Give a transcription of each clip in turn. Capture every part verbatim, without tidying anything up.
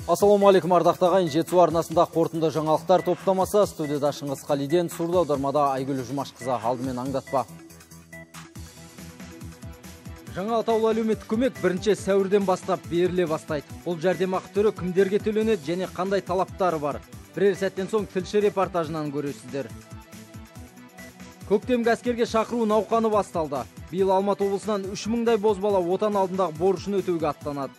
Ассалаумағалейкум ардақты ағайын, Жетісу арнасында қорытынды жаңалықтар топтамасы. Студияда Шыңғыс Қалиден, сурда аудармада Айгүл Жұмашқызы. Алдымен аңдатпа. Жаңа атаулы әлеуметтік көмек бірінші сәуірден бастап беріле бастайды. Бұл жәрдемақы түрі кімдерге төленеді және қандай талаптары бар? Бірер сәттен соң тілші репортажынан көресіздер. Көктемгі әскерге шақыру науқаны басталды. Биыл Алматы облысынан үш мыңдай бозбала отан алдындағы борышын өтеуге аттанады.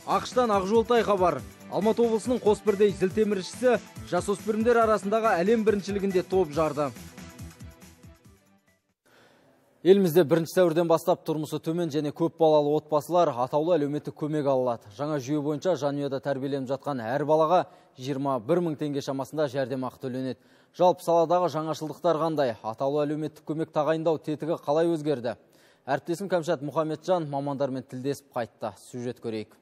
Ақштан Ақжолтай хабар. Алматы облысының Қосбірдей зілтеміршісі жасөспірімдер арасындағы әлем біріншілігінде топ жарды. Елімізде бірінші сәуірден бастап тұрмысы төмен және көп балалы отбасылар атаулы әлеуметтік көмек алады. Жаңа жүйе бойынша жанұяда тәрбиеленіп жатқан әр балаға жиырма бір мың теңге шамасында жәрдемақы төленеді. Жалпы саладағы жаңашылдықтар қандай? Атаулы әлеуметтік көмек тағайындау тетігі қалай өзгерді? Әріптесім Кәмшат Мұхамеджан мамандармен тілдесіп қайтты. Сюжет көрейік.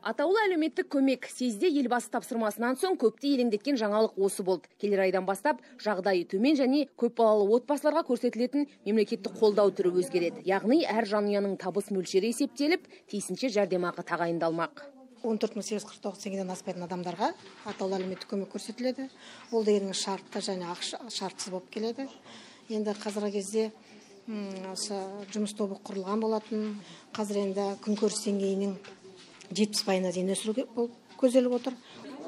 Атаулы әлеуметтік көмек съезде елбасы тапсырмасынан соң көпті елеңдеткен жаңалық осы болды. Келер айдан бастап жағдайы төмен және көп балалы отбасыларға көрсетілетін мемлекеттік қолдау түрі өзгереді. Яғни әр жанұяның табыс мөлшері есептеліп, тиісінше жәрдемақы тағайындалмақ. он төрт мың сегіз жүз қырық тоғыз теңгеден аспайтын адамдарға атаулы әлеуметтік көмек көрсетіледі. Ол дегенің шартты және шартсыз болып келеді. Енді қазіргі кезде осы жұмыс тобы құрылған болатын. Қазір енді күнкөріс деңгейінің жетпіс пайызына дейін өсіруге көзделіп отыр.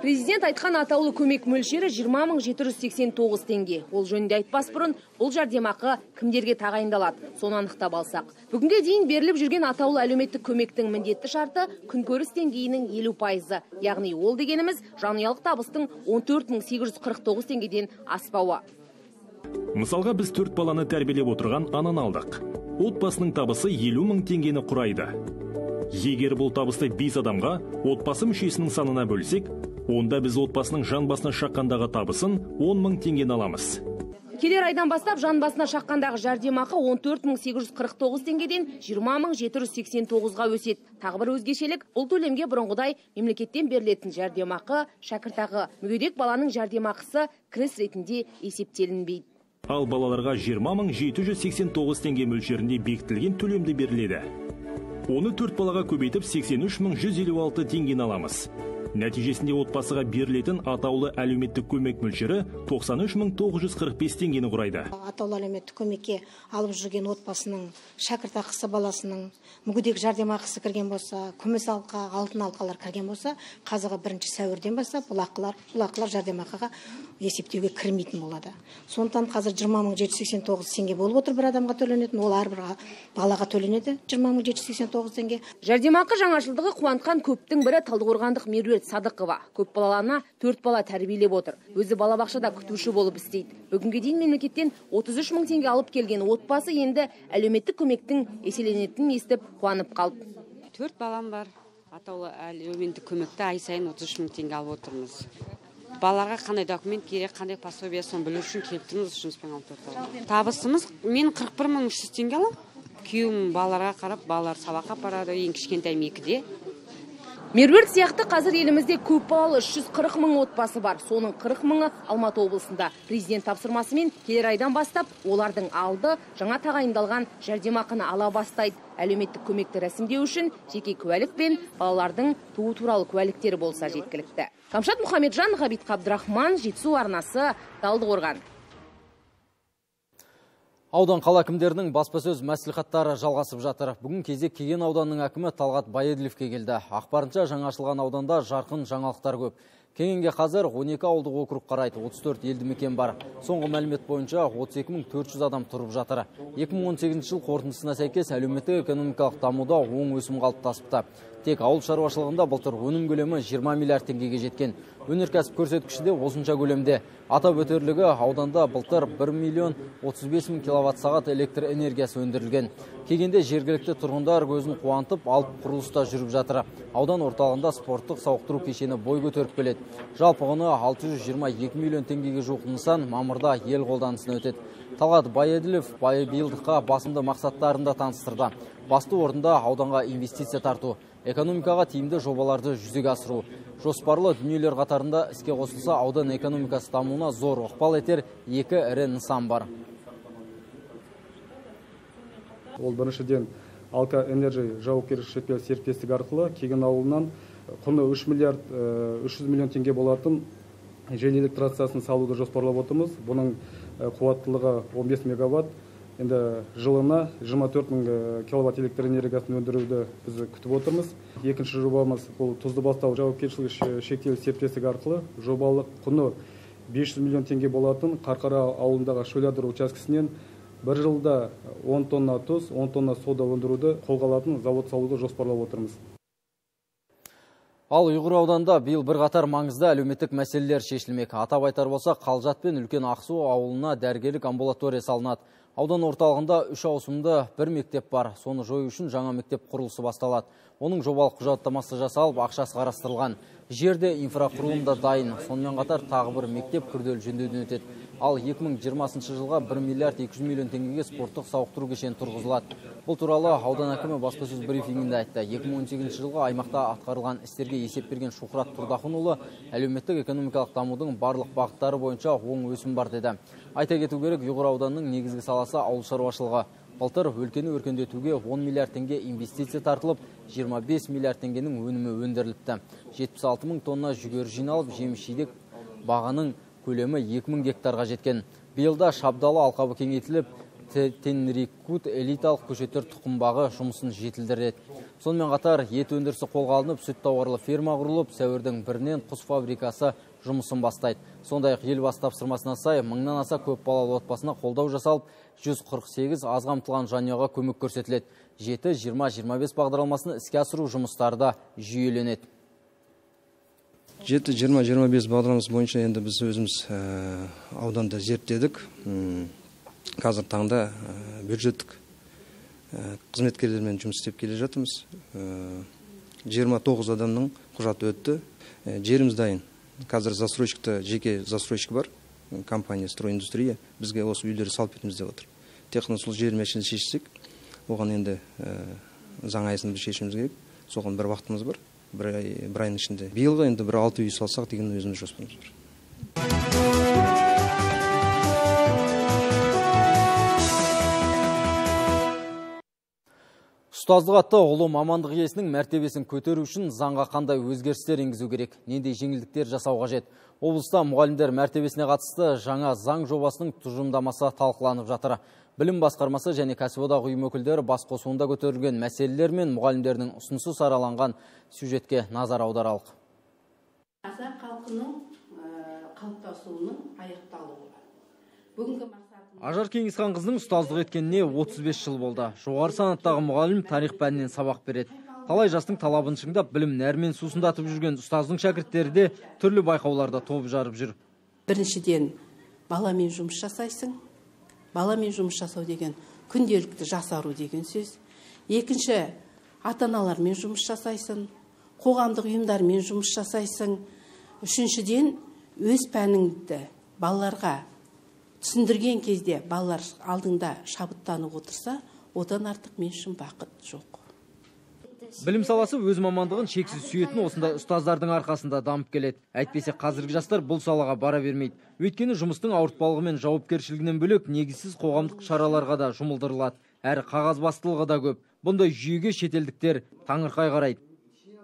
Президент айтқан атаулы көмек мөлшері жиырма мың жеті жүз сексен тоғыз теңге. Ол жөнінде айтпас бұрын, бұл жәрдемақы кімдерге тағайындалады? Соны анықтап алсақ. Бүгінге дейін беріліп жүрген атаулы әлеуметтік көмектің міндетті шарты күнкөріс деңгейінің елу пайызы. Яғни ол дегеніміз жанұялық табыстың он төрт мың сегіз жүз қырық тоғыз теңгеден аспауы. Мысалға біз төрт баланы тәрбиелеп отырған ананы алдық. Отбасының табысы елу мың теңгені құрайды. Егер бұл табысты бес адамға отбасы мүшесінің санына бөлсек, онда біз отбасының жан басына шаққандағы табысын он мың теңгені аламыз. Келер айдан бастап жан басына шаққандағы жәрдемақы он төрт мың сегіз жүз қырық тоғыз теңгеден жиырма мың жеті жүз сексен тоғызға өседі. Тағы бір өзгешелік, бұл төлемге бұрынғыдай мемлекеттен берілетін жәрдемақы, шәкіртақы, мүгедек баланың жәрдемақысы кіріс ретінде есептелінбейді. Ал балаларға жиырма мың жеті жүз сексен тоғыз теңге мөлшерінде бекітілген төлемді беріледі. Оны төрт балаға көбейтіп сексен үш мың жүз елу алты теңгені аламыз. Нәтижесінде отбасыға берілетін атаулы әлеуметтік көмек мөлшері тоқсан үш мың тоғыз жүз қырық бес теңгені құрайды. Атаулы әлеуметтік көмекке алып жүрген отбасының шәкіртақысы баласының мүгедек жәрдемақысы кірген болса, күміс алқа, алтын алқалар кірген болса, қазіргі бірінші сәуірден бастап бұл ақылар, бұл ақылар жәрдемақыға есептеуге кірмейтін болады. Сондықтан қазір жиырма мың жеті жүз сексен тоғыз теңге болып отыр бір адамға төленетін, ол әрбір балаға төленеді жиырма мың жеті жүз сексен тоғыз теңге. Жәрдемақы жаңашылдығы қуантқан көптің бірі Талдықорғандық Меруерт Садықова. Көп балаларына төрт бала тәрбиелеп отыр. Өзі балабақшада күтуші болып істейді. Бүгінге дейін мемлекеттен отыз үш мың теңге алып келген отбасы енді әлеуметтік көмектің еселенетінін естіп қуанып қалды. Төрт балам бар. Атаулы әлеуметтік көмекті ай сайын отыз үш мың теңге алып отырмыз. Балаларға қандай документ керек, қандай пособие соны білу үшін келіп тұрмыз, жұмыспен алып отырмыз. Табысымыз мен қырық бір мың үш жүз теңге аламын. Күйеуім балаларға қарап, балалар сабаққа барады, ең кішкентай екіде. Меруерт сияқты қазір елімізде көп балалы үш жүз қырық мың отбасы бар. Соның қырық мыңы Алматы облысында. Президент тапсырмасымен келер айдан бастап олардың алды жаңа тағайындалған жәрдемақыны ала бастайды. Әлеуметтік көмекті рәсімдеу үшін жеке куәлік пен балалардың туу туралы куәліктері болса жеткілікті. Кәмшат Мұхамеджан, Ғабит Қабдырахман, Жетісу арнасы, Талдықорған. Аудан қала әкімдерінің баспасөз мәслихаттары жалғасып жатыр. Бүгін кезек Кеген ауданының әкімі Талғат Байеділовке келді. Ақпарынша жаңашылған ауданда жарқын жаңалықтар көп. Кегенге қазір он екі ауылдық округ қарайды, отыз төрт елді мекен бар. Соңғы мәлімет бойынша отыз екі мың төрт жүз адам тұрып жатыр. екі мың он сегізінші жыл қорытындысына сәйкес әлеуметтік экономикалық дамуда оң өсім қалыптасыпты. Тек ауыл шаруашылығында былтыр өнім көлемі жиырма миллиард теңгеге жеткен. Өнеркәсіп көрсеткіші де осынша көлемде. Атап өтерлігі ауданда былтыр бір миллион отыз бес мың киловатт сағат электр энергиясы өндірілген. Кегенде жергілікті тұрғындар көзін қуантып, алып құрылыста жүріп жатыр. Аудан орталығында спорттық сауықтыру кешені бой көтеріп келеді. Жалпы құны алты жүз жиырма екі миллион теңгеге жуық нысан мамырда ел қолданысына өтеді. Талғат Байеділов биылдыққа басымды мақсаттарында таныстырды. Басты орында ауданға инвестиция тарту, экономикаға тиімді жобаларды жүзеге асыру. Жоспарлы дүниелер қатарында іске қосылса аудан экономикасы дамуына зор ықпал етер екі ірі нысан бар. Ол біріншіден Алка Энерджи жауапкершілігі шектеулі серіктестік арқылы Кеген ауылынан құны үш миллиард үш жүз миллион теңге болатын жел электрациясын салуды жоспарлап отырмыз. Бұның қуаттылығы он бес мегаватт. Енді жылына жиырма төрт мың киловатт электр энергиясын өндіруді біз күтіп отырмыз. Екінші жобамыз бұл Тұздыбастау жауапкершілігі шектеулі серіктестік арқылы жобалық құны бес жүз миллион теңге болатын Қарқара ауылындағы шөлядыр учаскесінен бір жылда он тонна тұз, он тонна сода өндіруді қолға алатын завод салуды жоспарлап отырмыз. Ал Ұйғыр ауданында биыл бір қатар маңызды әлеуметтік мәселелер шешілмек. Атап айтар болса, Қалжат пен Үлкен Ақсу ауылына дәрігерлік амбулатория салынады. Аудан орталығында үш ауысымды бір мектеп бар. Соны жою үшін жаңа мектеп құрылысы басталады. Оның жобалық құжаттамасы жасалып, ақшасы қарастырылған. Жерде инфрақұрылымда дайын. Сонымен қатар тағы бір мектеп күрделі жөндеуден өтеді. Ал екі мың жиырмасыншы жылға бір миллиард екі жүз миллион теңгеге спорттық сауықтыру кешені тұрғызылады. Бұл туралы аудан әкімі баспасөз брифингінде айтты. екі мың он сегізінші жылға аймақта атқарылған істерге есеп берген Шухрат Тұрдахынұлы әлеуметтік экономикалық дамудың барлық бағыттары бойынша оң өсім бар деді. Айта кету керек, Ұйғыр ауданының негізгі саласы ауыл шаруашылығы. Былтыр өлкені өркендетуге он миллиард теңге инвестиция тартылып, жиырма бес миллиард теңгенің өнімі өндіріліпті. жетпіс алты мың тонна жүгері жиналып, жеміс-жидек бағаның көлемі екі мың гектарға жеткен. Биылда Шабдалы алқабы кеңейтіліп, Тенрикут элиталық көшеттер тұқымбағы жұмысын жетілдіреді. Сонымен қатар ет өндірісі қолға алынып, сүт тауарлы ферма құрылып, сәуірдің бірінен құс фабрикасы жұмысын бастайды. Сондай-ақ елбасы тапсырмасына сай мыңнан аса көп балалы отбасына қолдау жасалып, жүз қырық сегіз аз қамтылған жанұяға көмек көрсетіледі. жеті жиырма жиырма бес бағдарламасын іске асыру жұмыстары да жүйеленеді. жеті жиырма жиырма бес бағдарламасы бойынша енді біз өзіміз ауданда зерттедік. Қазір таңда бюджеттік қызметкерлермен жұмыс істеп келе жатырмыз. жиырма тоғыз адамның құжаты өтті. Жеріміз дайын. Қазір застройщикті, жеке застройщик бар, компания «Стройиндустрия». Бізге осы үйлері салып етіміз деп отыр. Техно сол жер мәселесін шешсек, оған енді заң аясында біз шешіміз керек. Соған бір уақытымыз бар. Бір айның ішінде. Биылға енді бір алты үй салсақ деген өзіміз жоспарымыз бар. Ұстаздық атты ұлы мамандық иесінің мәртебесін көтеру үшін заңға қандай өзгерістер енгізу керек, нендей жеңілдіктер жасау қажет. Облыста мұғалімдер мәртебесіне қатысты жаңа заң жобасының тұжырымдамасы талқыланып жатыр. Білім басқармасы және кәсіподақ ұйым өкілдері бас қосуында көтерілген мәселелер мен мұғалімдердің ұсынысы сараланған сюжетке назар аударалық. Қазақ халқының қалыптасуының аяқталуы. Бүгінгі Ажар Кеңесхан қызының ұстаздық еткеніне отыз бес жыл болды. Жоғары санаттағы мұғалім тарих пәнінен сабақ береді. Талай жастың талабын шыңдап, білім нәрмен сусындатып жүрген ұстаздың шәкірттері де түрлі байқауларда топ жарып жүр. Біріншіден, баламен жұмыс жасайсың. Баламен жұмыс жасау деген күнделікті жасару деген сөз. Екінші, ата-аналармен жұмыс жасайсың. Қоғамдық ұйымдармен жұмыс жасайсың. Үшіншіден, өз пәніңді балаларға түсіндірген кезде балалар алдыңда шабыттанып отырса, одан артық мен үшін бақыт жоқ. Білім саласы өз мамандығын шексіз сүйетін осындай ұстаздардың арқасында дамып келеді. Әйтпесе қазіргі жастар бұл салаға бара бермейді. Өйткені жұмыстың ауыртпалығы мен жауапкершілігінен бөлек негізсіз қоғамдық шараларға да жұмылдырылады. Әрі қағаз бастылығы да көп. Бұндай жүйеге шетелдіктер таңырқай қарайды.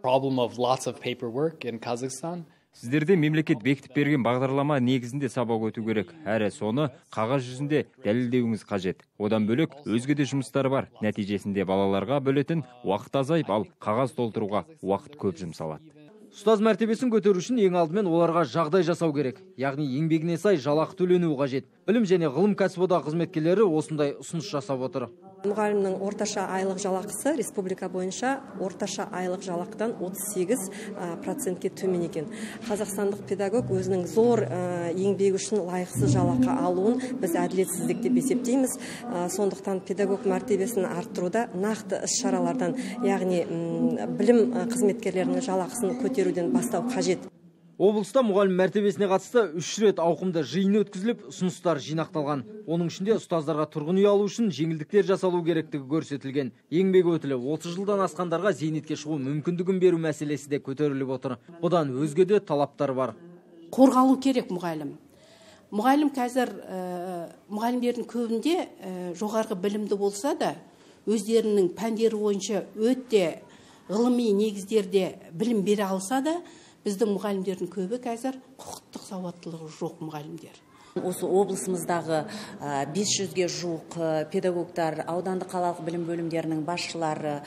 Problem of lots of paperwork in Kazakhstan. Сіздерде мемлекет бекітіп берген бағдарлама негізінде сабақ өту керек. Әрі соны қағаз жүзінде дәлелдеуіңіз қажет. Одан бөлек өзге де жұмыстар бар. Нәтижесінде балаларға бөлетін уақыт азайып, ал қағаз толтыруға уақыт көп жұмсалады. Ұстаз мәртебесін көтеру үшін ең алдымен оларға жағдай жасау керек. Яғни еңбегіне сай жалақы төленуі қажет. Білім және ғылым кәсіподақ қызметкерлері осындай ұсыныс жасап отыр. Мұғалімнің орташа айлық жалақысы республика бойынша орташа айлық жалақыдан отыз сегіз процентке төмен екен. Қазақстандық педагог өзінің зор еңбегі үшін лайықсыз жалақы алуын біз әділетсіздік деп есептейміз. Сондықтан педагог мәртебесін арттыруда нақты іс-шаралардан, яғни білім қызметкерлерінің жалақысын көтеруден бастау қажет. Облыста мұғалім мәртебесіне қатысты үш рет ауқымды жиын өткізіліп, ұсыныстар жинақталған. Оның ішінде ұстаздарға тұрғын үй алу үшін жеңілдіктер жасалу керектігі көрсетілген. Еңбек өтілі отыз жылдан асқандарға зейнетке шығу мүмкіндігін беру мәселесі де көтеріліп отыр. Бұдан өзге де талаптар бар. Қорғалу керек мұғалім. Мұғалім қазір мұғалімдердің көбінде жоғарғы білімді болса да, өздерінің пәндері бойынша өте ғылыми негіздерде білім бере алса да, біздің мұғалімдердің көбі қазір құқықтық сауаттылығы жоқ мұғалімдер. Осы облысымыздағы бес жүзге жуық педагогтар, аудандық қалалық білім бөлімдерінің басшылары,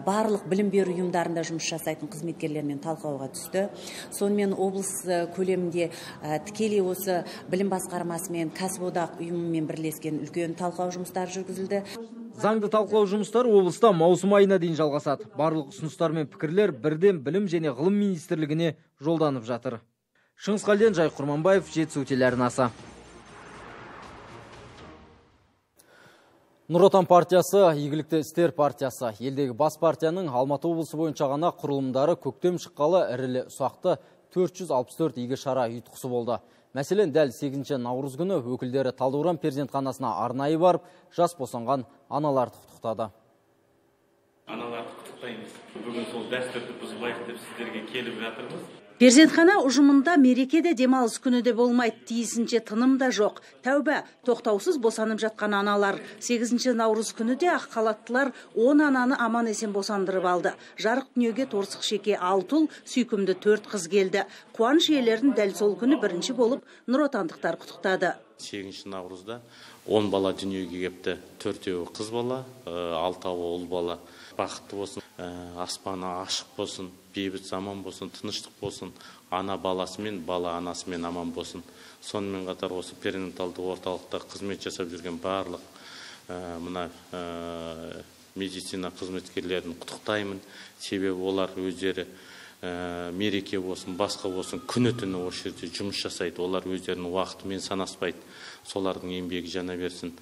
барлық білім беру ұйымдарында жұмыс жасайтын қызметкерлермен талқылауға түсті. Сонымен облыс көлемінде тікелей осы білім басқармасы мен кәсіподақ ұйымымен бірлескен үлкен талқылау жұмыстары жүргізілді. Заңды талқылау жұмыстары облыста маусым айына дейін жалғасады. Барлық ұсыныстар мен пікірлер бірден білім және ғылым министрлігіне жолданып жатыр. Шыңғыс Қалден, Жай Құрманбаев, Жетісу телеарнасы. Нұр Отан партиясы, Игілікті істер партиясы. Елдегі бас партияның Алматы облысы бойынша ғана құрылымдары көктем шыққалы ірілі ұсақты төрт жүз алпыс төрт игі шара ұйытқысы болды. Мәселен, дәл сегізінші наурыз күні өкілдері Талдықорған перзентханасына арнайы барып, жас босанған аналарды құттықтады. Аналарды құттықтаймыз. Бүгін сол дәстүрді бұзбайық деп сіздерге келіп жатырмыз. Перзентхана ұжымында мерекеде демалыс күні де болмайды, тиісінше тыным да жоқ. Тәуба, тоқтаусыз босанып жатқан аналар. сегізінші наурыз күні де ақ халаттылар он ананы аман есен босандырып алды. Жарық дүниеге торсық шеке алты ұл, сүйкімді төрт қыз келді. Қуаныш иелерін дәл сол күні бірінші болып Нұр Отандықтар құттықтады. сегізінші наурызда он бала дүниеге кепті. Төртеуі қыз бала, алтауы ұл бала. Бақытты болсын, аспаны ашық болсын, бейбіт заман болсын, тыныштық болсын, ана баласымен, бала анасымен аман болсын. Сонымен қатар осы перинаталды орталықта қызмет жасап жүрген барлық мына медицина қызметкерлерін құттықтаймын. Себебі олар өздері мереке болсын, басқа болсын, күні түні осы жерде жұмыс жасайды. Олар өздерінің уақытымен санаспайды. Солардың еңбегі жана берсін.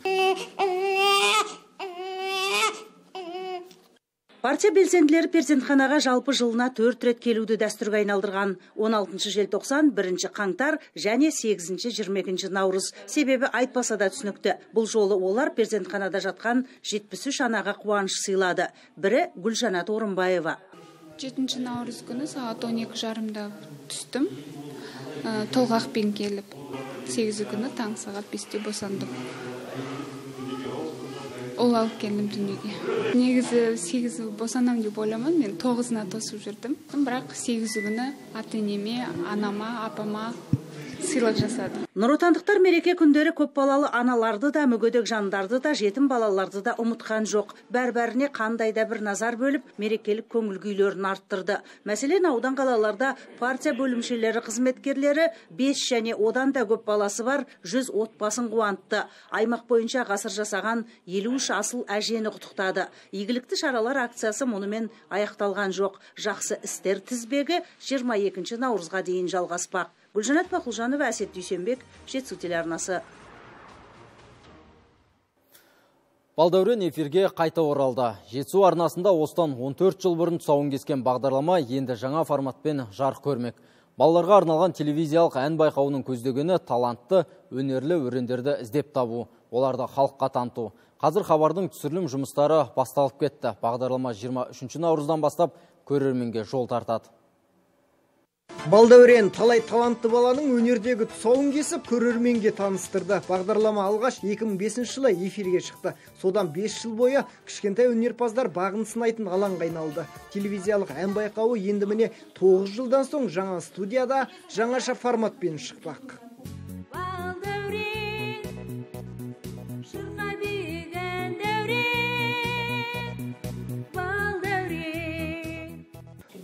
Партия белсенділері перзентханаға жалпы жылына төрт рет келуді дәстүрге айналдырған. он алтыншы желтоқсан, бірінші қаңтар және сегізінші жиырма екінші наурыз. Себебі айтпаса да түсінікті. Бұл жолы олар перзентханада жатқан жетпіс үш анаға қуаныш сыйлады. Бірі Гүлжанат Орынбаева. жетінші наурыз күні сағат он екі жарымда түстім. Толғақпен келіп, сегізі күні таң сағат бесте босандым. Ол алып келдім дүниеге. Негізі сегізі босанам деп ойламадым, мен тоғызына тосып жүрдім. Бірақ сегізі күні ата-енеме, анама, апама сыйлық жасады. Нұр Отандықтар мереке күндері көп балалы аналарды да, мүгедек жандарды да, жетім балаларды да ұмытқан жоқ. Бәр-бәріне қандай да бір назар бөліп, мерекелік көңіл күйлерін арттырды. Мәселен, аудан қалаларда партия бөлімшелері қызметкерлері бес және одан да көп баласы бар жүз отбасын қуантты. Аймақ бойынша ғасыр жасаған елу үш асыл әжені құттықтады. Игілікті шаралар акциясы мұнымен аяқталған жоқ. Жақсы істер тізбегі жиырма екінші наурызға дейін жалғаспақ. Гүлжанат Бақылжанова, Әсет Дүйсенбек, Жетісу телеарнасы. Балдәурен эфирге қайта оралды. Жетісу арнасында осыдан он төрт жыл бұрын тұсауын кескен бағдарлама енді жаңа форматпен жарық көрмек. Балаларға арналған телевизиялық ән байқауының көздегені талантты, өнерлі өрендерді іздеп табу, оларды халыққа таныту. Қазір хабардың түсірілім жұмыстары басталып кетті. Бағдарлама жиырма үшінші наурыздан бастап көрерменге жол тартады. Балдәурен талай талантты баланың өнердегі тұсауын кесіп, көрерменге таныстырды. Бағдарлама алғаш екі мың бесінші жылы эфирге шықты. Содан бес жыл бойы кішкентай өнерпаздар бағын сынайтын алаңға айналды. Телевизиялық ән байқауы енді міне тоғыз жылдан соң жаңа студияда жаңаша форматпен шықпақ.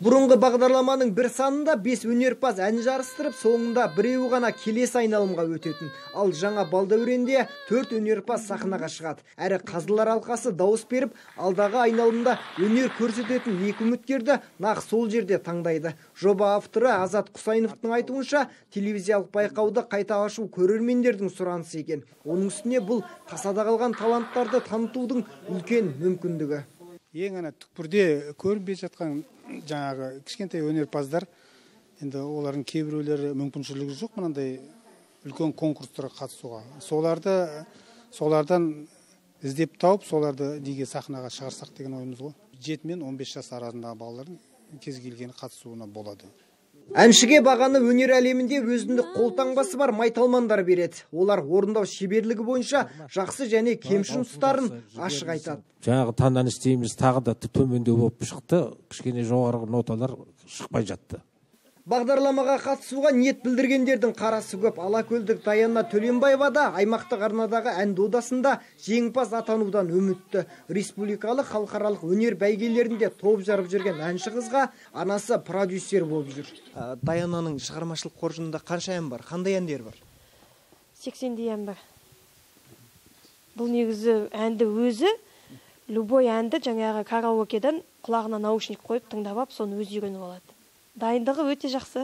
Бұрынғы бағдарламаның бір санында бес өнерпаз ән жарыстырып, соңында біреу ғана келесі айналымға өтетін. Ал жаңа Балдәуренде төрт өнерпаз сахнаға шығады. Әрі қазылар алқасы дауыс беріп, алдағы айналымда өнер көрсететін екі үміткерді нақ сол жерде таңдайды. Жоба авторы Азат Құсайыновтың айтуынша, телевизиялық байқауды қайта ашу көрермендердің сұранысы екен. Оның үстіне бұл тасада қалған таланттарды танытудың үлкен мүмкіндігі. Ең ана түкпірде көрінбей жатқан жаңағы кішкентай өнерпаздар, енді олардың кейбіреулері мүмкіншілігі жоқ мынандай үлкен конкурстарға қатысуға. Соларды солардан іздеп тауып, соларды неге сахнаға шығарсақ деген ойымыз ғой. жеті мен он бес жас арасындағы балалардың кез келген қатысуына болады. Әншіге бағаны өнер әлемінде өзіндік қолтаңбасы бар майталмандар береді. Олар орындау шеберлігі бойынша жақсы және кемшін тұстарын ашық айтады. Жаңағы таңданыс дейміз, тағы да төмендеу болып шықты, кішкене жоғары ноталар шықпай жатты. Бағдарламаға қатысуға ниет білдіргендердің қарасы көп. Алакөлдік Даяна Төленбаева да аймақтық арнадағы ән додасында жеңімпаз атанудан үмітті. Республикалық халықаралық өнер бәйгелерінде топ жарып жүрген әнші қызға анасы продюсер болып жүр. Даянаның шығармашылық қоржынында қанша ән бар? Қандай әндер бар? сексендей ән бар. Бұл негізі әнді өзі, любой әнді жаңағы караокеден құлағына наушник қойып тыңдап, соны өзі үйреніп алады. Дайындығы өте жақсы.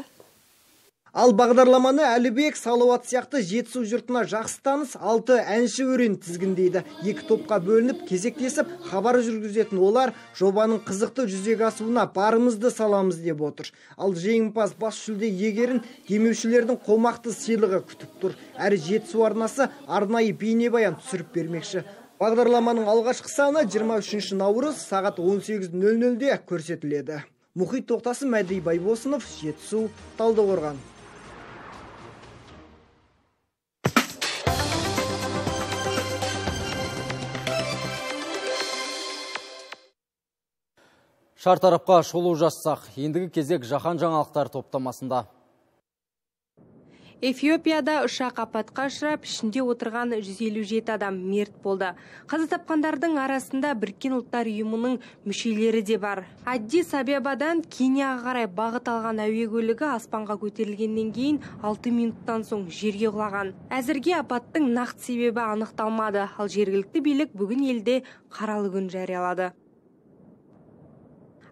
Ал бағдарламаны Әлібек, Салауат сияқты Жетісу жұртына жақсы таныс алты әнші өрен тізгіндейді. Екі топқа бөлініп, кезектесіп, хабар жүргізетін олар жобаның қызықты жүзеге асуына барымызды саламыз деп отыр. Ал жеңімпаз бас жүлде иегерін демеушілердің қомақты сыйлығы күтіп тұр. Әрі Жетісу арнасы арнайы бейнебаян түсіріп бермекші. Бағдарламаның алғашқы саны жиырма үшінші наурыз сағат он сегіз нөл нөлде көрсетіледі. Мұхит Тоқтасын, Мәди Байбосынов, Жетісу, Талдықорған. Шартарапқа шолу жассақ, ендігі кезек жаһан жаңалықтар топтамасында. Эфиопияда ұшақ апатқа ұшырап, ішінде отырған жүз елу жеті адам мерт болды. Қаза тапқандардың арасында Біріккен ұлттар ұйымының мүшелері де бар. Аддис Абебадан Кенияға қарай бағыт алған әуе көлігі аспанға көтерілгеннен кейін алты минуттан соң жерге құлаған. Әзірге апаттың нақты себебі анықталмады, ал жергілікті билік бүгін елде қаралы күн жариялады.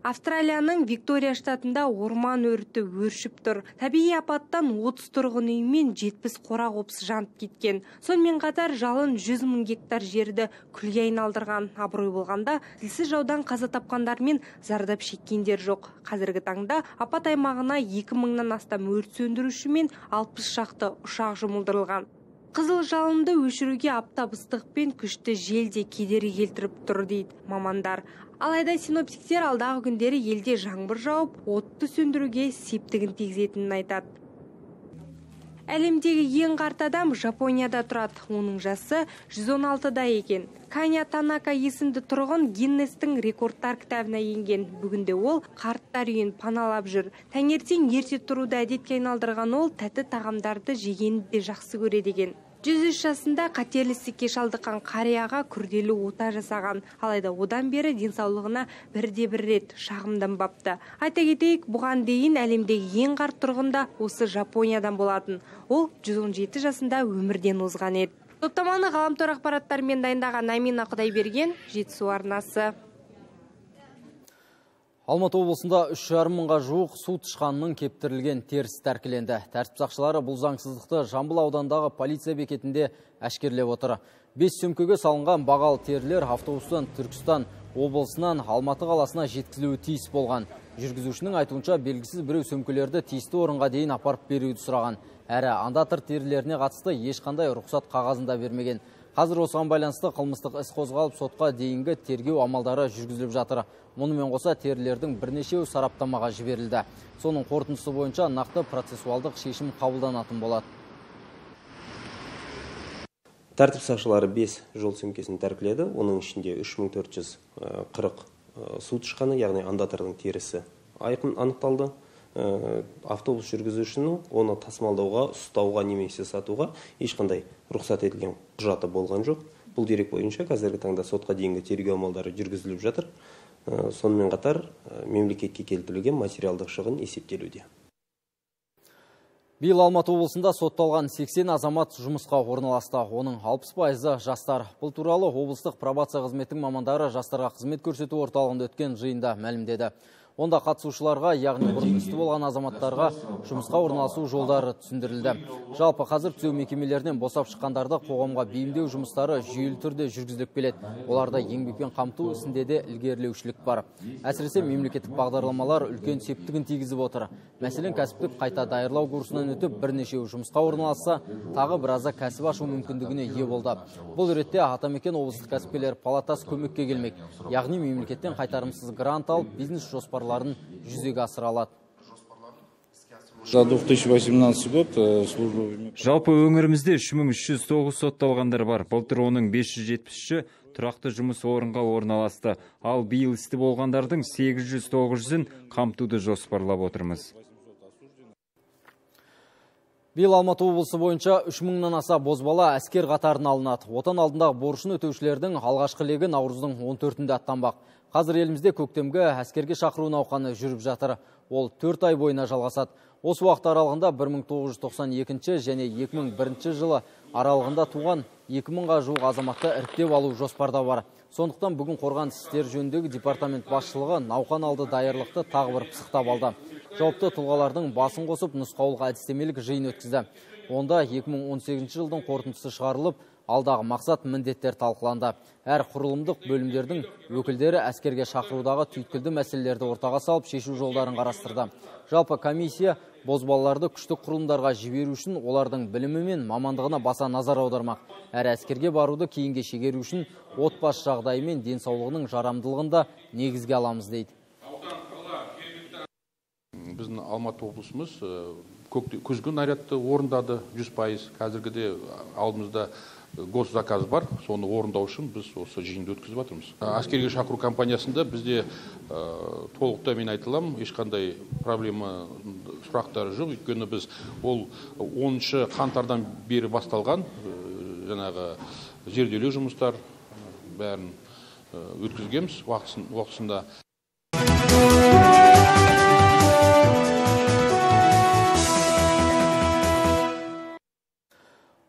Австралияның Виктория штатында орман өрті өршіп тұр. Табиғи апаттан отыз тұрғын үй мен жетпіс қора қопсы жанып кеткен. Сонымен қатар жалын жүз мың гектар жерді күлге айналдырған. Абырой болғанда тілсіз жаудан қаза тапқандар мен зардап шеккендер жоқ. Қазіргі таңда апат аймағына екі мыңнан астам өрт сөндіруші мен алпыс шақты ұшақ жұмылдырылған. Қызыл жалынды өшіруге аптап ыстық пен күшті жел де кедергі келтіріп тұр дейді мамандар. Алайда синоптиктер алдағы күндері елде жаңбыр жауып, отты сөндіруге септігін тигізетінін айтады. Әлемдегі ең қарт адам Жапонияда тұрады. Оның жасы жүз он алтыда екен. Каня Танака есімді тұрғын Гиннестің рекордтар кітабына енген. Бүгінде ол қарттар үйін паналап жүр. Таңертең ерте тұруды әдетке айналдырған ол тәтті тағамдарды жегенді де жақсы көреді екен. жүз үш жасында қатерлі ісікке шалдыққан қарияға күрделі ота жасаған. Алайда одан бері денсаулығына бірде бір рет шағымданбапты. Айта кетейік, бұған дейін әлемдегі ең қарт тұрғын да осы Жапониядан болатын. Ол жүз он жеті жасында өмірден озған еді. Топтаманы ғаламтор ақпараттарымен дайындаған Амина Құдайберген, Жетісу арнасы. Алматы облысында үш жарым мыңға жуық су тышқанының кептірілген терісі тәркіленді. Тәртіп сақшылары бұл заңсыздықты Жамбыл аудандағы полиция бекетінде әшкерлеп отыр. Бес сөмкеге салынған бағалы терілер автобустан Түркістан облысынан Алматы қаласына жеткізілуі тиіс болған. Жүргізушінің айтуынша белгісіз біреу сөмкелерді тиісті орынға дейін апарып беруді сұраған. Әрі андатыр терілеріне қатысты ешқандай рұқсат қағазында бермеген. Қазір осыған байланысты қылмыстық іс қозғалып, сотқа дейінгі тергеу амалдары жүргізіліп жатыр. Мұнымен қоса терілердің бірнешеуі сараптамаға жіберілді. Соның қорытындысы бойынша нақты процессуалдық шешім қабылданатын болады. Тәртіп сақшылары бес жол сөмкесін тәркіледі. Оның ішінде үш мың төрт жүз қырық су тышқаны, яғни андатордың терісі айқын анықталды. Автобус жүргізушінің оны тасымалдауға, ұстауға немесе сатуға ешқандай рұқсат етілген құжаты болған жоқ. Бұл дерек бойынша қазіргі таңда сотқа дейінгі тергеу амалдары жүргізіліп жатыр. Сонымен қатар мемлекетке келтірілген материалдық шығын есептелуде. Биыл Алматы облысында сотталған сексен азамат жұмысқа орналасты. Оның алпыс пайызы жастар. Бұл туралы облыстық пробация қызметінің мамандары жастарға қызмет көрсету орталығында өткен жиында мәлімдеді. Онда қатысушыларға, яғни бұрын істі болған азаматтарға жұмысқа орналасу жолдары түсіндірілді. Жалпы қазір түзеу мекемелерінен босап шыққандарды қоғамға бейімдеу жұмыстары жүйелі түрде жүргізіліп келеді. Оларда еңбекпен қамту ісінде де ілгерілеушілік бар. Әсіресе мемлекеттік бағдарламалар үлкен септігін тигізіп отыр. Мәселен, кәсіптік қайта даярлау курсынан өтіп бірнешеу жұмысқа орналасса, тағы біразы кәсіп ашу мүмкіндігіне ие болды. Бұл ретте Атамекен облыстық кәсіпкерлер палатасы көмекке келмек. Яғни мемлекеттен қайтарымсыз грант алып, бизнес жоспарларын жүзеге асыра алады. За две тысячи восемнадцатый год службу. Жалпы өңірімізде үш мың үш жүз тоғыз сотталғандар бар. Былтыр оның бес жүз жетпіс үші тұрақты жұмыс орынға орналасты. Ал биыл істі болғандардың сегіз жүз тоғыз жүзін қамтуды жоспарлап отырмыз. Биыл Алматы облысы бойынша үш мыңнан аса бозбала әскер қатарына алынады. Отан алдындағы борышын өтеушілердің алғашқы легі наурыздың он төртінде аттанбақ. Қазір елімізде көктемгі әскерге шақыру науқаны жүріп жатыр. Ол төрт ай бойына жалғасады. Осы уақыт аралығында бір мың тоғыз жүз тоқсан екінші және екі мың бірінші жылы аралығында туған екі мыңға жуық азаматты іріктеп алу жоспарда бар. Сондықтан бүгін қорғаныс істері жөніндегі департамент басшылығы науқан алды даярлықты тағы бір пысықтап алды. Жауапты тұлғалардың басын қосып нұсқаулық әдістемелік жиын өткізді. Онда екі мың он сегізінші жылдың қорытындысы шығарылып, алдағы мақсат міндеттер талқыланды. Әр құрылымдық бөлімдердің өкілдері әскерге шақырудағы түйткілді мәселелерді ортаға салып шешу жолдарын қарастырды. Жалпы комиссия бозбалаларды күштік құрылымдарға жіберу үшін олардың білімі мен мамандығына баса назар аудармақ. Әр әскерге баруды кейінге шегеру үшін отбасы жағдайы мен денсаулығының жарамдылығында негізге аламыз дейді. Біздің Алматы облысымыз күзгі нарядты орындады жүз пайыз. Қазіргіде алдымызда госзаказ бар, соны орындау үшін біз осы жиынды өткізіп жатырмыз. Әскерге шақыру компаниясында бізде толықта мен айтылам, ешқандай проблема сұрақтары жоқ. Өйткені біз ол оныншы қаңтардан бері басталған жаңағы зерделеу жұмыстар бәрін өткізгенбіз уақытысында.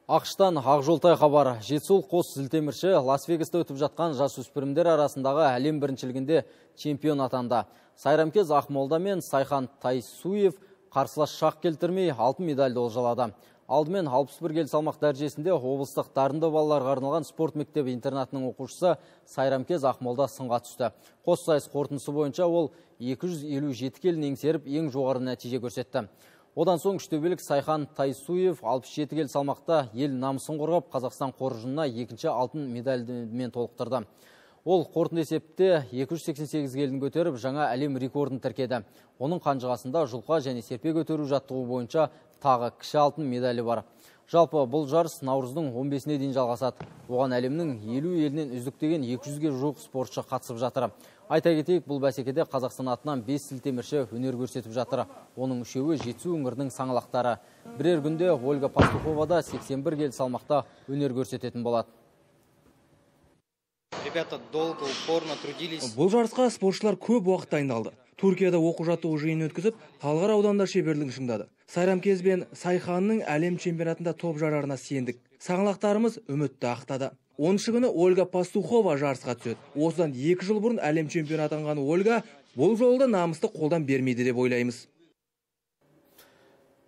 Ақштан Ақжолтай хабар. Жетісул қос зілтемірші Лас-Вегаста өтіп жатқан жасөспірімдер арасындағы әлем біріншілігінде чемпион атанды. Сайрамкез Ақмолда мен Сайхан Тайсуев қарсылас шақ келтірмей алтын медальды олжалады. Алдымен алпыс бір келі салмақ дәрежесінде облыстық дарынды балаларға арналған спорт мектебі интернатының оқушысы Сайрамкез Ақмолда сынға түсті. Қос сайыс қорытындысы бойынша ол екі жүз елу жеті келін еңсеріп ең жоғары нәтиже көрсетті. Одан соң үштөбелік Сайхан Тайсуев алпыс жеті келі салмақта ел намысын қорғап, Қазақстан қоржынына екінші алтын медальмен толықтырды. Ол қорытынды есепте екі жүз сексен сегіз келін көтеріп, жаңа әлем рекордын тіркеді. Оның қанжығасында жұлқа және серпе көтеру жаттығу бойынша тағы кіші алтын медалі бар. Жалпы бұл жарыс наурыздың он бесіне дейін жалғасады. Оған әлемнің елу елінен үздіктеген екі жүзге жуық спортшы қатысып жатыр. Айта кетейік, бұл бәсекеде Қазақстан атынан бес сілтемірші өнер көрсетіп жатыр. Оның үшеуі Жетісу өңірінің саңлақтары. Бірер күнде Ольга Пастухова да сексен бір келі салмақта өнер көрсететін болады. Бұл жарысқа спортшылар көп уақыт дайындалды. Түркияда оқу-жаттығу жиын өткізіп, Талғар ауданында шеберлігін шыңдады. Сайрамкез бен Сайханның әлем чемпионатында топ жарарына сендік. Саңлақтарымыз үмітті ақтады. оныншы күні Ольга Пастухова жарысқа түседі. Осыдан екі жыл бұрын әлем чемпионы атанған Ольга бұл жолда намысты қолдан бермейді деп ойлаймыз.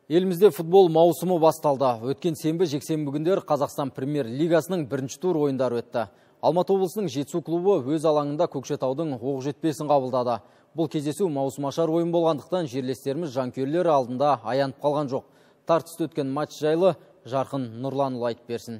Елімізде футбол маусымы басталды. Өткен сенбі жексенбі күндер Қазақстан премьер-лигасының бірінші тур ойындары өтті. Алматы облысының Жетісу клубы өз алаңында Көкшетаудың Оқжетпесін қабылдады. Бұл кездесу маусымашар ойын болғандықтан жерлестеріміз жанкүйерлері алдында аянып қалған жоқ. Тартысты өткен матч жайлы Жарқын Нұрланұлы айтып берсін.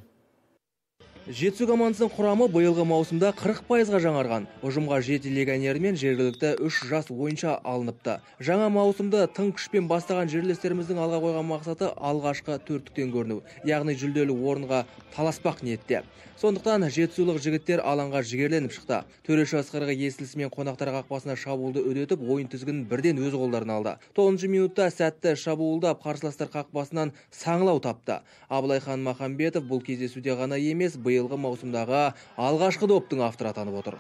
Жетісу командасының құрамы биылғы маусымда қырық пайызға жаңарған. Ұжымға жеті легионер мен жергілікті үш жас ойыншы алыныпты. Жаңа маусымды тың күшпен бастаған жерлестеріміздің алға қойған мақсаты алғашқы төрттіктен көріну, яғни жүлделі орынға таласпақ ниетте. Сондықтан жетісулық жігіттер алаңға жігерленіп шықты. Төреші асқарға естілісімен қонақтар қақпасына шабуылды өдетіп, ойын тізгінін бірден өз қолдарына алды. тоғызыншы минутта сәтті шабуылдап, қарсыластар қақпасынан саңылау тапты. Абылайхан Махамбетов бұл кездесуде ғана емес, биылғы маусымдағы алғашқы доптың авторы атанып отыр.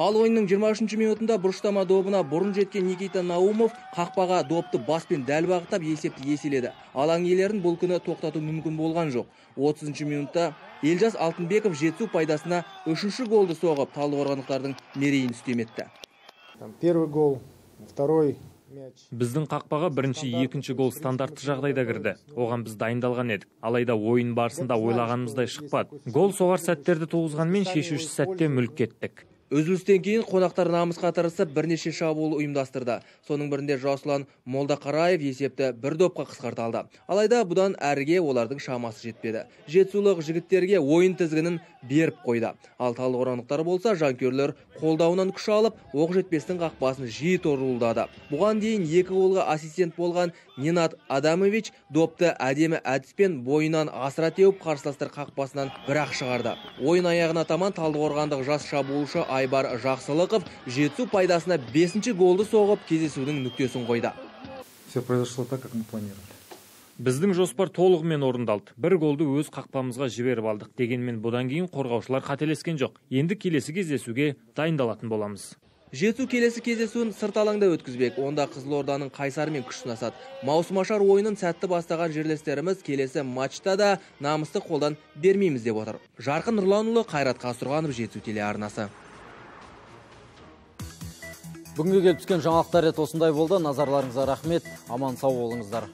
Ал ойынның жиырма үшінші минутында бұрыштама добына бұрын жеткен Никита Наумов қақпаға допты баспен дәл бағыттап есепті еселеді. Алаң иелерін бұл күні тоқтату мүмкін болған жоқ. отызыншы минутта Елжас Алтынбеков Жетісу пайдасына үшінші голды соғып, талдықорғандықтардың мерейін үстем етті. Первый гол, второй Біздің қақпаға бірінші, екінші гол стандартты жағдайда кірді. Оған біз дайындалған едік. Алайда ойын барысында ойлағанымыздай шықпады. Гол соғар сәттерді туғызғанмен шешуші сәтте мүлік кеттік. Үзілістен кейін қонақтар намысқа тырысып бірнеше шабуыл ұйымдастырды. Соның бірінде Жасұлан Молдақараев есепті бір допқа қысқарталды. Алайда бұдан әріге олардың шамасы жетпеді. Жетісулық жігіттерге ойын тізгінін беріп қойды. Ал талдықорғандықтар болса жанкүйерлер қолдауынан күш алып, оқжетпестің қақпасын жиі торулдады. Бұған дейін екі голға ассистент болған Ненад Адамович допты әдемі әдіспен бойынан асыра теуіп қарсыластар қақпасынан бір-ақ шығарды. Ойын аяғына таман талдықорғандық жас шабуылшы Айбар Жақсылықов жетісу пайдасына бесінші голды соғып кездесудің нүктесін қойды. Все произошло так, как мы планировали. Біздің жоспар толығымен орындалды. Бір голды өз қақпамызға жіберіп алдық. Дегенмен бұдан кейін қорғаушылар қателескен жоқ. Енді келесі кездесуге дайындалатын боламыз. Жетісу келесі кездесуін сырт алаңда өткізбек. Онда Қызылорданың Қайсарымен күш сынасады. Маусымашар ойынын сәтті бастаған жерлестеріміз келесі матчта да намысты қолдан бермейміз деп отыр. Жарқын Нұрланұлы, Қайрат Қасырғанов, Жетісу телеарнасы. Бүгінге келіп түскен жаңалықтар рет осындай болды. Назарларыңызға рахмет. Аман сау болыңыздар.